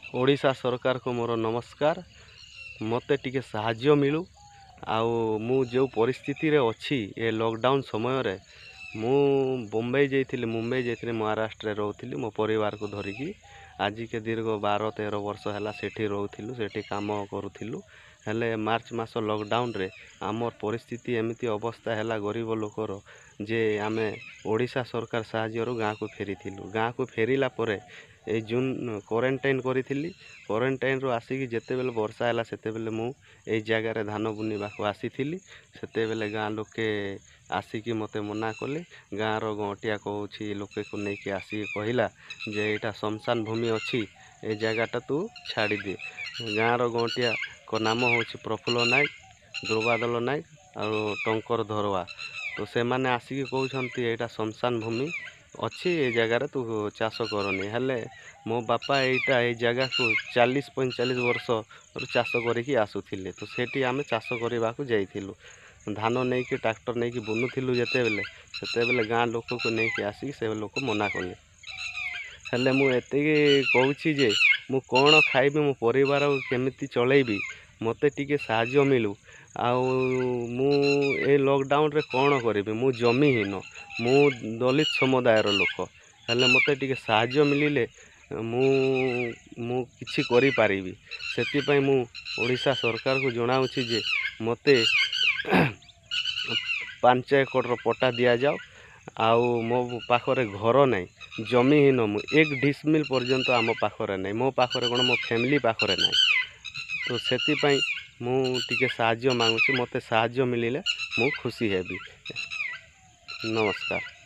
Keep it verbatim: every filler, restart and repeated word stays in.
ଓଡ଼ିଶା ସରକାରକୁ ମୋର ନମସ୍କାର। ମୋତେ ଟିକେ ସାହାଯ୍ୟ ମିଳୁ। ଆଉ ମୁଁ ଯେଉଁ ପରିସ୍ଥିତିରେ ଅଛି ଏ ଲକଡ଼ାଉନ୍ ସମୟରେ, ମୁଁ ବମ୍ବେ ଯାଇଥିଲି, ମୁମ୍ବାଇ ଯାଇଥିଲି, ମହାରାଷ୍ଟ୍ରରେ ରହୁଥିଲି ମୋ ପରିବାରକୁ ଧରିକି। ଆଜିକେ ଦୀର୍ଘ ବାର ତେର ବର୍ଷ ହେଲା ସେଠି ରହୁଥିଲୁ, ସେଠି କାମ କରୁଥିଲୁ। ହେଲେ ମାର୍ଚ୍ଚ ମାସ ଲକଡ଼ାଉନ୍ରେ ଆମର ପରିସ୍ଥିତି ଏମିତି ଅବସ୍ଥା ହେଲା ଗରିବ ଲୋକର ଯେ ଆମେ ଓଡ଼ିଶା ସରକାର ସାହାଯ୍ୟରୁ ଗାଁକୁ ଫେରିଥିଲୁ। ଗାଁକୁ ଫେରିଲା ପରେ ଏଇ ଜୁନ୍ କ୍ୱାରେଣ୍ଟାଇନ୍ କରିଥିଲି। କ୍ୱାରେଣ୍ଟାଇନ୍ରୁ ଆସିକି ଯେତେବେଲେ ବର୍ଷା ହେଲା, ସେତେବେଲେ ମୁଁ ଏଇ ଜାଗାରେ ଧାନ ବୁଣିବାକୁ ଆସିଥିଲି। ସେତେବେଲେ ଗାଁ ଲୋକେ ଆସିକି ମୋତେ ମନା କଲେ। ଗାଁର ଗଅଁଟିଆ କହୁଛି, ଲୋକେକୁ ନେଇକି ଆସିକି କହିଲା ଯେ ଏଇଟା ଶ୍ମଶାନ ଭୂମି ଅଛି, ଏ ଜାଗାଟା ତୁ ଛାଡ଼ିଦେ। ଗାଁର ଗଅଁଟିଆଙ୍କ ନାମ ହେଉଛି ପ୍ରଫୁଲ୍ଲ ନାୟକ, ଦୁର୍ବାଦଲ ନାୟକ ଆଉ ଟଙ୍କର ଧରୁଆ। ତ ସେମାନେ ଆସିକି କହୁଛନ୍ତି, ଏଇଟା ଶ୍ମଶାନ ଭୂମି ଅଛି, ଏ ଜାଗାରେ ତୁ ଚାଷ କରନି। ହେଲେ ମୋ ବାପା ଏଇଟା ଏଇ ଜାଗାକୁ ଚାଳିଶ ପଇଁଚାଳିଶ ବର୍ଷରୁ ଚାଷ କରିକି ଆସୁଥିଲେ। ତ ସେଠି ଆମେ ଚାଷ କରିବାକୁ ଯାଇଥିଲୁ। ଧାନ ନେଇକି, ଟ୍ରାକ୍ଟର ନେଇକି ବୁନୁଥିଲୁ ଯେତେବେଲେ, ସେତେବେଲେ ଗାଁ ଲୋକକୁ ନେଇକି ଆସିକି ସେ ଲୋକ ମନା କଲେ। ହେଲେ ମୁଁ ଏତିକି କହୁଛି ଯେ ମୁଁ କ'ଣ ଖାଇବି, ମୋ ପରିବାର କେମିତି ଚଳେଇବି, ମୋତେ ଟିକେ ସାହାଯ୍ୟ ମିଳୁ। ଆଉ ମୁଁ ଏ ଲକଡ଼ାଉନ୍ରେ କ'ଣ କରିବି? ମୁଁ ଜମିହୀନ, ମୁଁ ଦଳିତ ସମୁଦାୟର ଲୋକ। ହେଲେ ମୋତେ ଟିକେ ସାହାଯ୍ୟ ମିଳିଲେ ମୁଁ ମୁଁ କିଛି କରିପାରିବି। ସେଥିପାଇଁ ମୁଁ ଓଡ଼ିଶା ସରକାରକୁ ଜଣାଉଛି ଯେ ମୋତେ ପାଞ୍ଚ ଏକରର ପଟ୍ଟା ଦିଆଯାଉ। ଆଉ ମୋ ପାଖରେ ଘର ନାହିଁ, ଜମିହୀନ ମୁଁ। ଏକ ଡିସମିଲ୍ ପର୍ଯ୍ୟନ୍ତ ଆମ ପାଖରେ ନାହିଁ, ମୋ ପାଖରେ କ'ଣ, ମୋ ଫ୍ୟାମିଲି ପାଖରେ ନାହିଁ। ତ ସେଥିପାଇଁ ମୁଁ ଟିକେ ସାହାଯ୍ୟ ମାଗୁଛି। ମୋତେ ସାହାଯ୍ୟ ମିଳିଲେ ମୁଁ ଖୁସି ହେବି। ନମସ୍କାର।